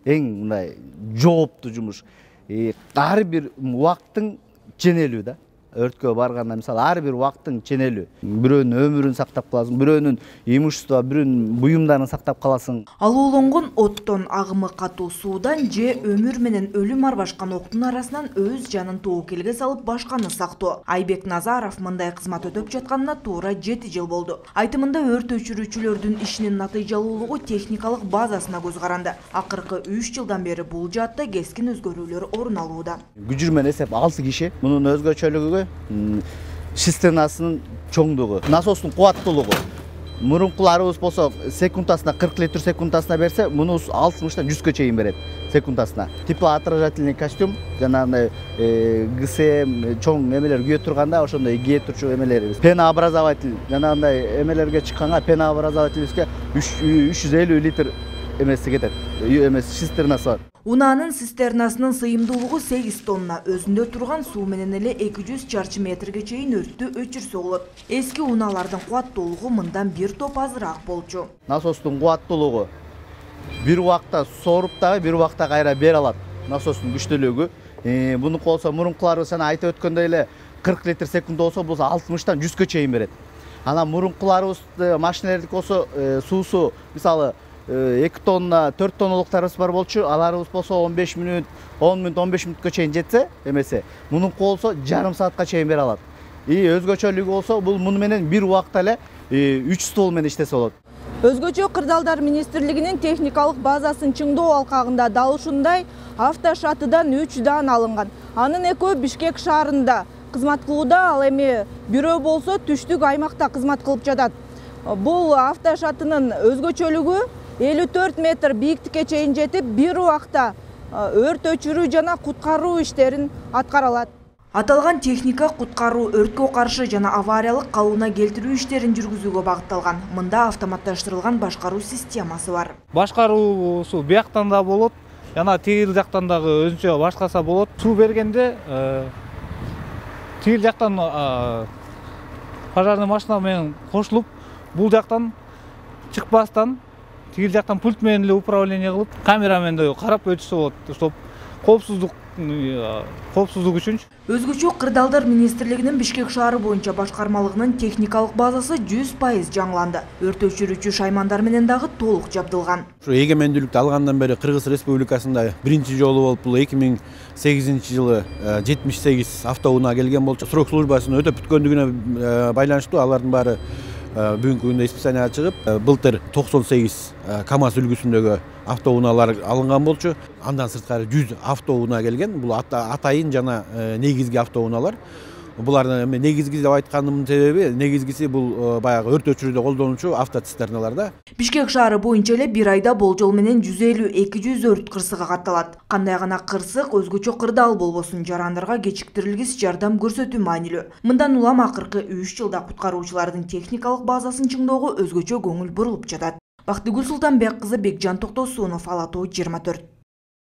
эң мындай жооптуу жумуш. Ар бир убакыттын ченелүү да. Өрткө барганда мисалы ар бир убакыттын ченелүү. Бирөөнүн өмүрүн сактап каласың, бирөөнүн имущество, бирөөнүн буюмдарын сактап каласың. Алууланган оттон, агымы катуу суудан же өмүр менен өлүм арбашкан октун арасынан өз жанын тобокелге салып башканы сактоо. Айбек Назаров мындай кызмат өтөп жатканына туура 7 жыл болду. Айтымында өрт өчүрүүчүлөрдүн ишинин натыйжалуулугу техникалык базасына көз каранды. Акыркы 3 жылдан бери бул жаатта кескин өзгөрүүлөр орун алууда. Күжүрмен эсеп 6 киши. Мунун өзгөчөлүгү цистернасынын чоңдугу, насостун кубаттуулугу. Мурункуларыбыз болсо секундасына 40 литр секундасына берсе, мунубуз 60-тан 100гө чейин берет секундасына. Теплоотражательный костюм, жанагындай ГСМ чоң эмелер күйө турганда ошондой кие турчу эмелерибиз. Пенообразователь, жанагындай эмелерге чыкканга пенообразователибизге 350 литр эмеси кетет. Цистернасы бар. Унаанын цистернасынын сыйымдуулугу 8 тонна, өзүндө турган суу менен эле 200 чарчы метрге чейин өрттү өчүрсө болот. Эски унаалардын кубаттуулугу мындан бир топ азыраак болчу. Насостун кубаттуулугу бир убакта соруп дагы бир убакта кайра бере алат. Насостун күчтүүлүгү. Мунуку болсо мурункуларыбыз жана айтып өткөндөй эле 40 литр секунд болсо, бул 60-тан 100гө чейин берет. Анан мурункуларыбыз машиналердики болсо суусу мисалы 2 тонна, 4 тонналыктарыбыз бар болчу. Аларыбыз болсо 15 мүнөт, 10 мүнөт, 15 мүнөткө чейин жетсе, эмесе. Мунунку болсо жарым саатка чейин бере алат. Өзгөчөлүгү болсо, бул муну менен бир убакта эле 3 стол менен иштесе болот. Өзгөчө Кырдаалдар министрлигинин техникалык базасын чыңдоо алкагында дал ушундай автошатыдан 3 дан алынган. Анын экөө Бишкек шаарында кызмат кылууда, ал эми бирөө болсо түштүк аймакта кызмат кылып жатат. Бул автошатынын өзгөчөлүгү 54 метр бийиктикке чейин жетип, бир убакта өрт өчүрүү жана куткаруу иштерин аткара алат. Аталган техника куткаруу, өрткө каршы жана авариялык калыбына келтирүү иштерин жүргүзүүгө багытталган. Мында автоматташтырылган башкаруу системасы бар. Башкаруусу бияктан да болот, жана тигил жактан дагы өзүнчө башкарса болот. Суу бергенде тигил жактан пожарный машина менен кошулуп, бул жактан чыкпастан тигил жактан пульт менен эле управление кылып, камера менен да карап өтүшсө болот, чтоб коопсуздук үчүн. Өзгөчө Кырдаалдар министрлигинин Бишкек шаары боюнча башкармалыгынын техникалык базасы 100% жаңыланды. Өрт өчүрүүчү шаймандар менен дагы толук жабдылган. Ушу эгемендүүлүктү алгандан бери Кыргыз Республикасында биринчи жолу болуп, бул 2008-жылы 78 автоунаа келген болчу. Срок службасын өтөп бүткөндүгүнө байланыштуу алардын баары бүгүнкү күндө испытания чыгып, былтыр 98 КАМАЗ үлгүсүндөгү автоунаалар алынган болчу. Андан сырткары 100 автоунаа келген. Бул атайын жана негизги автоунаалар. Булардын негизги деп айтканымдын себеби, негизгиси бул баягы өрт өчүрүүдө колдонуучу автоцистерналар да. Бишкек шаары боюнча эле бир айда болжол менен 150-200 өрт кырсыгы катталат. Кандай гана кырсык өзгөчө Кырдаал болбосун, жарандарга кечиктирилгис жардам көрсөтүү маанилүү. Мындан улам акыркы 3 жылда куткаруучулардын техникалык базасын чыңдоого өзгөчө көңүл бурулуп жатат. Бактыгүл Султанбек кызы, Бекжан Токтосунов, Ала Тоо 24.